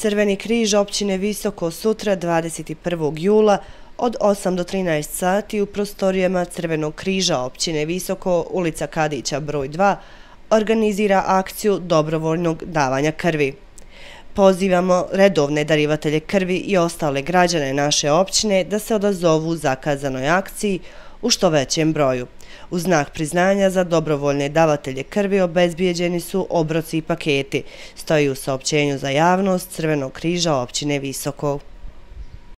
Crveni križ općine Visoko sutra 21. jula od 8 do 13 sati u prostorijama Crvenog križa općine Visoko, ulica Kadića broj 2, organizira akciju dobrovoljnog davanja krvi. Pozivamo redovne darivatelje krvi i ostale građane naše općine da se odazovu zakazanoj akciji u što većem broju. U znak priznanja za dobrovoljne davatelje krvi obezbijeđeni su obroci i paketi, stoji u saopćenju za javnost Crvenog križa općine Visoko.